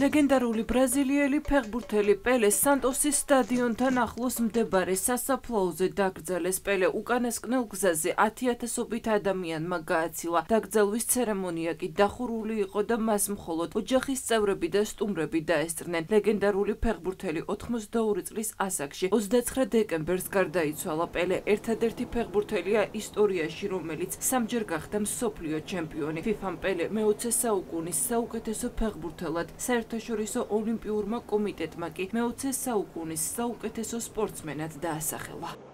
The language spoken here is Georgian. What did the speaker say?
ლეგენდარული ბრაზილიელი ფეხბურთელი პელე სანტოსის სტადიონთან ახლოს მდებარე სასაფლაოზე დაკრძალეს. პელე უკანასკნელ გზაზე 10,000-ობით ადამიანმა გააცილა. დაკრძალვის ცერემონია კი დახურული იყო და მას მხოლოდ ოჯახის წევრები და სტუმრები დაესწრნენ. ლეგენდარული ფეხბურთელი 82 წლის ასაკში 29 დეკემბერს გარდაიცვალა. პელე ერთადერთი ფეხბურთელია ისტორიაში, რომელიც 3-ჯერ გახდა მსოფლიო ჩემპიონი. FIFA-მ პელე მე-20 საუკუნის საუკეთესო ფეხბურთელად, საერთაშორისო ოლიმპიურმა კომიტეტმა კი მე-20 საუკუნის საუკეთესო სპორტსმენად დაასახელა.